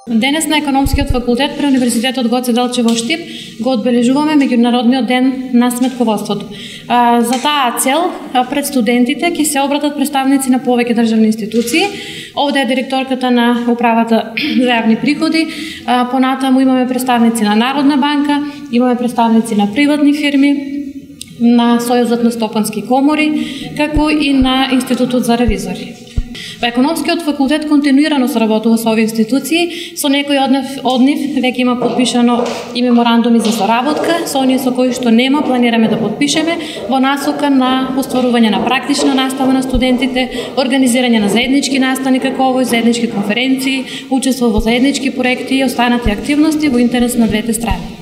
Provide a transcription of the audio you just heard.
Денес на Економскиот факултет при Универзитетот Гоце Делчев во Штип го одбележуваме меѓународниот ден на сметководството. За таа цел пред студентите ќе се обратат представници на повеќе државни институции. Овде е директорката на Управата за јавни приходи, понатаму имаме представници на Народна банка, имаме представници на приватни фирми, на Сојузот на стопански комори, како и на Институтот за ревизори. Економскиот факултет континуирано соработува со овие институции, со некои од нив веќе има подпишано и меморандуми за соработка, со оние со кои што нема планираме да подпишеме во насока на остварување на практична настава на студентите, организирање на заеднички настани како овој, заеднички конференции, учество во заеднички проекти и останати активности во интерес на двете страни.